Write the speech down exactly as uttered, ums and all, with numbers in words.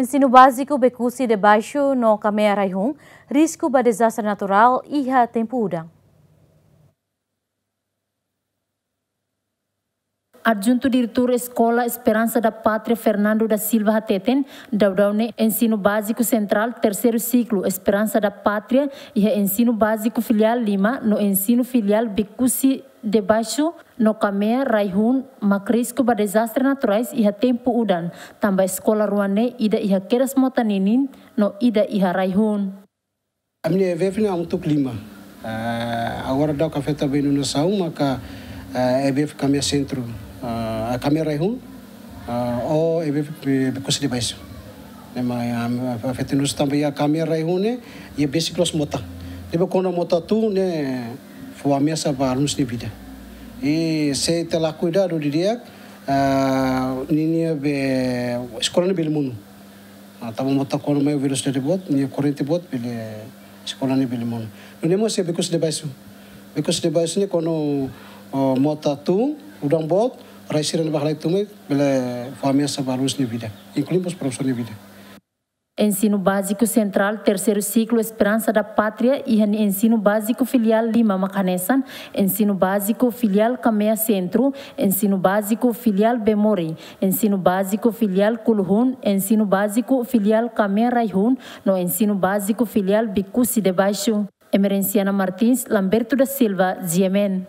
Ensinu Báziku Becusse de Baixo no Camea Raihun, risku ba dezastre naturál iha tempu udan. Adjuntu Diretór Eskola Esperança da Pátria, Fernando da Silva, hateten, daudaun ne'e Ensinu Báziku Sentrál Terseiru Siklu Esperança da Pátria iha Ensinu Báziku Filiál lima no Ensinu Filiál Becusse de Baixo no Camea Raihun mak risku ba dezastre naturais iha tempu udan, tanba eskola rua ne'e ida iha kedas mota ninin no ida iha raihun. Ami-nia E B F ne'e hamutuk lima. Ah, agora daudaun afeta ba inundasaun maka, ah, E B F Camea Centro, ah, Camea Raihun, ah, ho E B F Be-, Becusse de Baixo. Ne'e mak, ah, afeta inundasaun tanba iha Camea Raihun ne'e iha besik loos mota. Ne'ebé kuandu mota tun ne'e fó ameasa ba alunus nia vida. I se ita la kuidadu didi'ak, ah, ninia be eskola ne'e bele monu. Ah, tanba mota kuandu mai velosidade boot, nia korrente boot, bele eskola ne'e bele monu. Nune'e mós iha Becusse de Baixo. Becusse de Baixo ne'e kuandu, oh, mota tun, udan boot, rai sira ne'ebá halai tun mai, bele fó ameasa ba alunus nia vida, inklui mós profesór nia vida. Ensinu Báziku Sentrál Terseiru Siklu Esperança da Pátria iha nia Ensinu Báziku Filiál lima mak hanesan, Ensinu Báziku Filiál Camea Centro, Ensinu Báziku Filiál Bemori, Ensinu Báziku Filiál Kuluhun, Ensinu Báziku Filiál Camea Raihun, no Ensinu Báziku Filiál Becusse de Baixo. Emerenciana Martins, Lamberto da Silva, G M N.